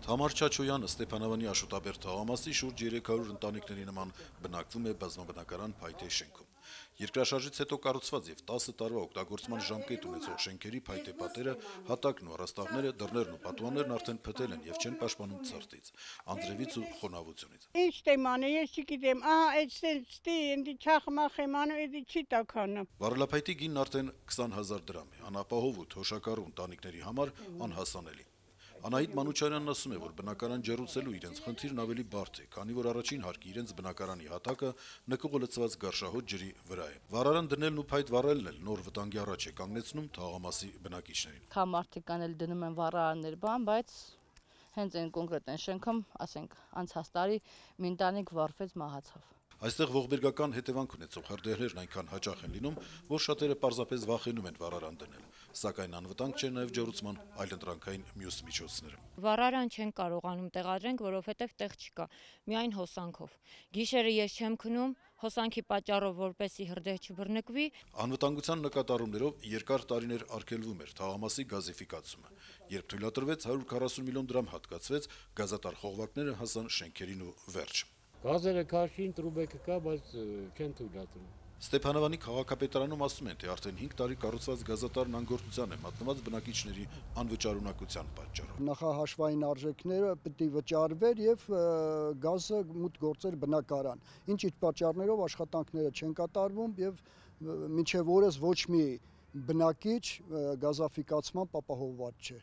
Թամար Չաչոյանը Ստեփանավանի Աշոտաբերդ թաղամասի շուրջ 300 ընտանիքների նման բնակվում է բազմաբնակարան փայտե շենքում։ Երկրաշարժից հետո կառուցված եւ 10 տարվա օգտագործման ժամկետ ունեցող շենքերի փայտե պատերը, հատակն ու առաստաղները, դռներն ու պատուհաններն արդեն փտել են եւ չեն պաշտպանում ցրտից, անձրևից ու խոնավությունից։ Ինչ տեման է, ես չգիտեմ, այստի ինձ չախմախ եմ անում, էդի չի տականը։ Վարելափայտի գինն արդեն 20,000 դրամ է, անապահով ու թոշակառու ընտանիքների համար անհասանելի։ Անահիտ Մանուչարյանն ասում է, որ բնակարան ջեռուցելու իրենց խնդիրն ավելի բարդ է, քանի որ առաջին հարկի իրենց բնակարանի հատակը նկուղը լցված գարշահոտ ջրի վրա է։ Վառարան դնելն ու փայտ վառելն էլ նոր վտանգի առաջ է կանգնեցնում թաղամասի բնակիչներին։ Քա մարդիկ կան էլ դնում են վառարաններ, բայց հենց այն կոնկրետ այն շենքում, ասենք, անցած տարի մի ընտանիք վառվեց, մահացավ։ Այստեղ ողբերգական հետևանք ունեցող հրդեհներն այնքան հաճախ են լինում, որ շատերը պարզապես վախենում են վառարան դնել, սակայն անվտանգ չէ նաև ջեռուցման այլընտրանքային մյուս միջոցները։ Վառարան չեն կարողանում տեղադրենք, որովհետև տեղ չկա, միայն հոսանքով։ Գիշերը ես չեմ քնում, հոսանքի պատճառով, որպեսզի հրդեհ չբռնկվի։ Անվտանգության նկատառումներով երկար տարիներ արգելվում էր թաղամասի գազիֆիկացումը, երբ թույլատրվեց 140 միլիոն դրամ հատկացվեց, գազատար խողովակները հասան շենքերին ու վերջ։ Գազերը քաշին, տրուբեկը կա, բայց չեն թույլատրում։ Ստեփանավանի քաղաքապետարանում ասում են, թե արդեն 5 տարի կառուցված գազատարն անգործության է մատնված բնակիչների անվճարունակության պատճառով։ Նախահաշվային արժեքները պետք է վճարվեր եւ գազը մուտք գործեր բնակարան։ Ինչ-ինչ պատճառներով աշխատանքները չեն կատարվում եւ մինչեւ օրս ոչ մի բնակիչ գազաֆիկացման ապահովված չէ։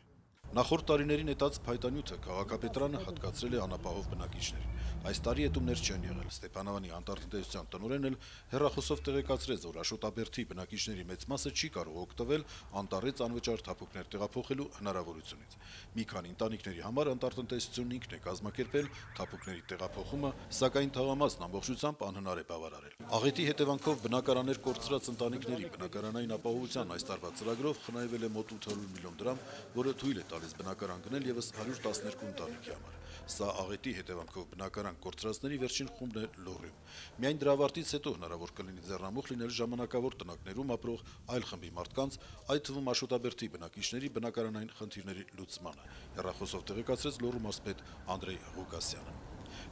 Նախորդ տարիների նետած փայտանյութը քաղաքապետարանը հատկացրել է անապահով բնակիչներին։ Այս տարի էտումներ չեն եղել։ Ստեփանավանի անտառտնտեսության տնօրենն էլ հեռախոսով տեղեկացրեց, որ Աշոտաբերդի բնակիչների մեծ մասը չի կարող օգտվել անտառից անվճար թափուկներ տեղափոխելու հնարավորությունից։ Մի քանի ընտանիքների համար անտառտնտեսությունն ինքն է կազմակերպել թափուկների տեղափոխումը, սակայն թաղամասն ամբողջությամբ անհնար է բավարարել։ Աղետի հետևանքով բնակարաններ կորցրած ընտանիքների բնակարանային ապահովության այս տարվա ծրագրով խնայվել է մոտ 800 միլիոն դրամ, որը թույլ է տալիս բնակարան գնել եւս 112 ընտանիքի համար։ Սա աղետի հետևանքով բնակարան կորցրածների վերջին խումբն է Լոռիում։ Միայն դրա ավարտից հետո հնարավոր կլինի ձեռնամուխ լինել ժամանակավոր տնակներում ապրող այլ խմբի մարդկանց, այդ թվում Աշոտաբերդի բնակիչների բնակարանային խնդիրների լուծմանը, հեռախոսով տեղեկացրեց Լոռու մարզպետ Անդրեյ Ղուկասյանը։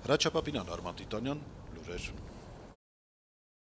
Հրաչապապինյան, Արման Տիտանյան, լուրեր։